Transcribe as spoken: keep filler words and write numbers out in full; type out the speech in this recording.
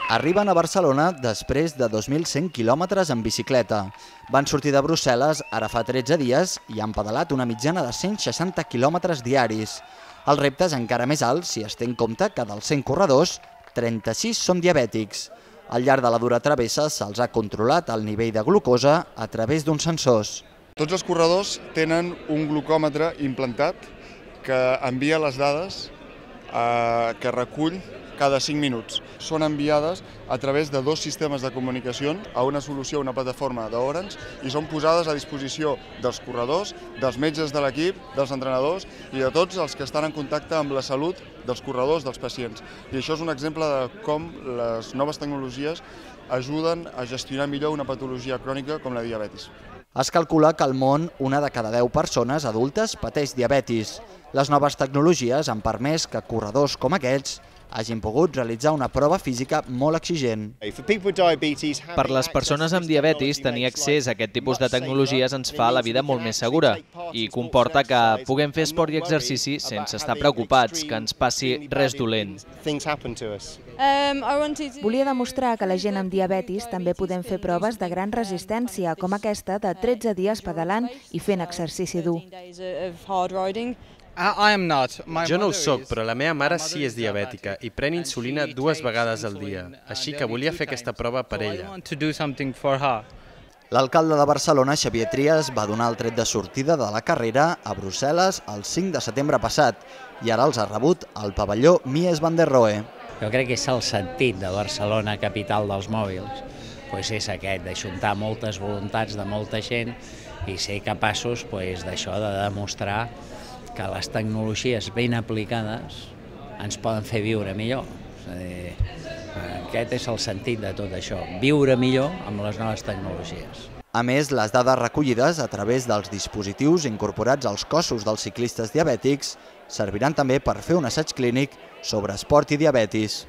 Arriben a Barcelona després de dos mil cent quilòmetres en bicicleta. Van sortir de Brussel·les ara fa tretze dies i han pedalat una mitjana de cent seixanta quilòmetres diaris. El repte és encara més alt si es té en compte que dels cent corredors, trenta-sis són diabètics. Al llarg de la dura travessa se'ls ha controlat el nivell de glucosa a través d'uns sensors. Tots els corredors tenen un glucòmetre implantat que envia les dades eh, que recull cada cinc minuts. Són enviades a través de dos sistemes de comunicació a una solució, una plataforma d'Orange, i són posades a disposició dels corredors, dels metges de l'equip, dels entrenadors i de tots els que estan en contacte amb la salut dels corredors, dels pacients. I això és un exemple de com les noves tecnologies ajuden a gestionar millor una patologia crònica com la diabetis. Es calcula que al món una de cada deu persones adultes pateix diabetis. Les noves tecnologies han permès que corredors com aquests hagin pogut realitzar una prova física molt exigent. Per les persones amb diabetis, tenir accés a aquest tipus de tecnologies ens fa la vida molt més segura i comporta que puguem fer esport i exercici sense estar preocupats que ens passi res dolent. Volia demostrar que la gent amb diabetis també podem fer proves de gran resistència, com aquesta de tretze dies pedalant i fent exercici dur. Jo no ho soc, però la meva mare sí és diabètica i pren insulina dues vegades al dia, així que volia fer aquesta prova per ella. L'alcalde de Barcelona, Xavier Trias, va donar el tret de sortida de la carrera a Brussel·les el cinc de setembre passat i ara els ha rebut al pavelló Mies van der Rohe. Jo crec que és el sentit de Barcelona, capital dels mòbils, doncs és aquest, d'ajuntar moltes voluntats de molta gent i ser capaços d'això, de demostrar que les tecnologies ben aplicades ens poden fer viure millor. És a dir, aquest és el sentit de tot això, viure millor amb les noves tecnologies. A més, les dades recollides a través dels dispositius incorporats als cossos dels ciclistes diabètics serviran també per fer un assaig clínic sobre esport i diabetis.